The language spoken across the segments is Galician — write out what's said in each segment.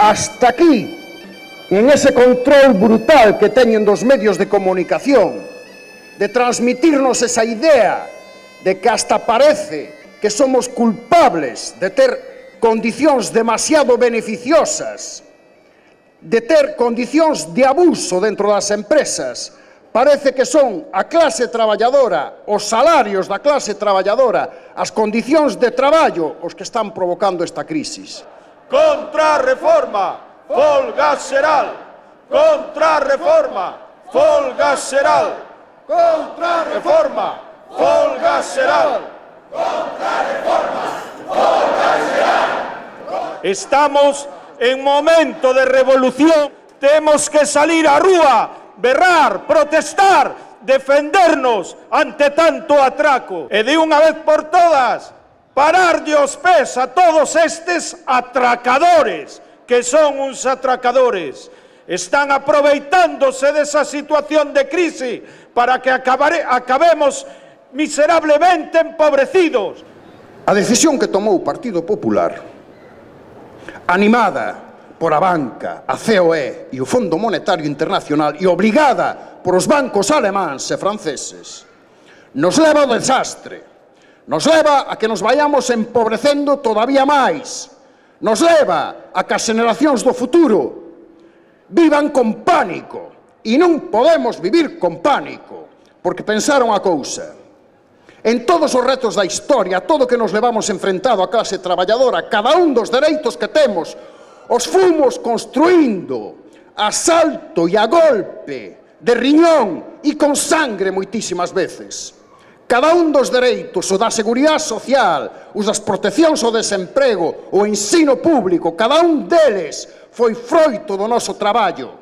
hasta aquí, en ese control brutal que teñen dos medios de comunicación, de transmitirnos esa idea de que hasta parece que somos culpables de ter condicións demasiado beneficiosas, de ter condicións de abuso dentro das empresas. Parece que son a clase traballadora, os salarios da clase traballadora, as condicións de traballo os que están provocando esta crisis. Contrarreforma, folga xeral. Contrarreforma, folga xeral. Contrarreforma, folga xeral. Contrarreforma, folga xeral. Estamos en momento de revolución. Temos que salir á rúa, berrar, protestar, defendernos ante tanto atraco. E de unha vez por todas, pararlle os pés a todos estes atracadores, que son uns atracadores. Están aproveitándose desa situación de crise para que acabemos miserablemente empobrecidos. A decisión que tomou o Partido Popular, animada por a banca, a COE e o Fondo Monetario Internacional e obrigada por os bancos alemáns e franceses, nos leva ao desastre, nos leva a que nos vayamos empobrecendo todavía máis, nos leva a que as xeneracións do futuro vivan con pánico, e non podemos vivir con pánico, porque pensaron a cousa. En todos os retos da historia, todo o que nos levamos enfrentado a clase traballadora, cada un dos dereitos que temos, os fomos construindo a salto e a golpe, de riñón e con sangre moitísimas veces. Cada un dos dereitos, o da seguridade social, os das proteccións ao desemprego, o ensino público, cada un deles foi froito do noso traballo,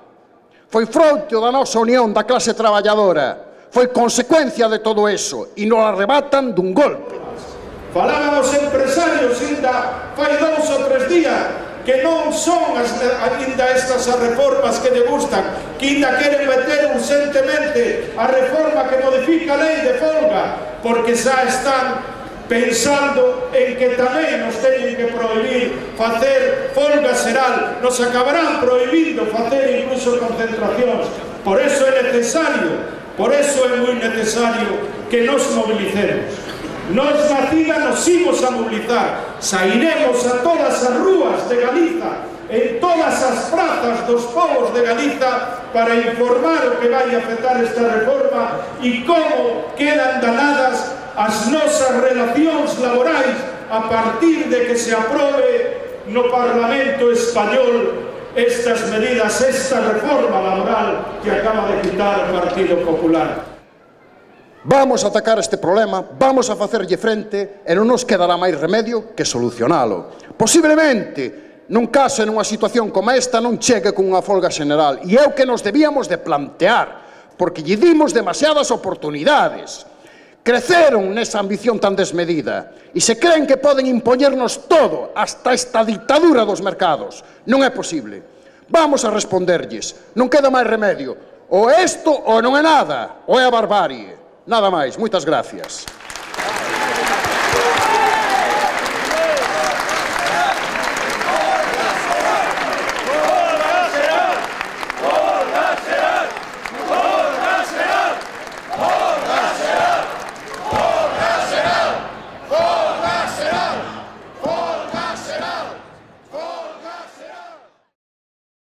foi froito da nosa unión da clase traballadora, foi consecuencia de todo eso, e nos arrebatan dun golpe. Falaban os empresarios ainda fai 2 ou 3 días que non son ainda estas as reformas que lle gustan, que ainda queren meter urgentemente a reforma que modifica a lei de folga, porque xa están pensando en que tamén nos teñen que prohibir facer folga xeral, nos acabarán prohibindo facer incluso concentracións. Por eso é necesario, por eso é moi necesario que nos mobilicemos. Nos na CIDA nos imos a mobilizar, sairemos a todas as rúas de Galiza, en todas as prazas dos povos de Galiza, para informar o que vai afectar esta reforma e como quedan danadas as nosas relacións laborais a partir de que se aprobe no Parlamento Español estas medidas, esta reforma laboral que acaba de quitar o Partido Popular. Vamos a atacar este problema, vamos a facerlle frente e non nos quedará máis remedio que solucionalo. Posiblemente, nun caso e nunha situación como esta, non chegue con unha folga xeneral. E é o que nos debíamos de plantear, porque lle dimos demasiadas oportunidades. Creceron nesa ambición tan desmedida e se creen que poden impoñernos todo, hasta esta dictadura dos mercados. Non é posible. Vamos a responderlles. Non queda máis remedio. Ou isto ou non é nada, ou é a barbarie. Nada máis. Moitas gracias.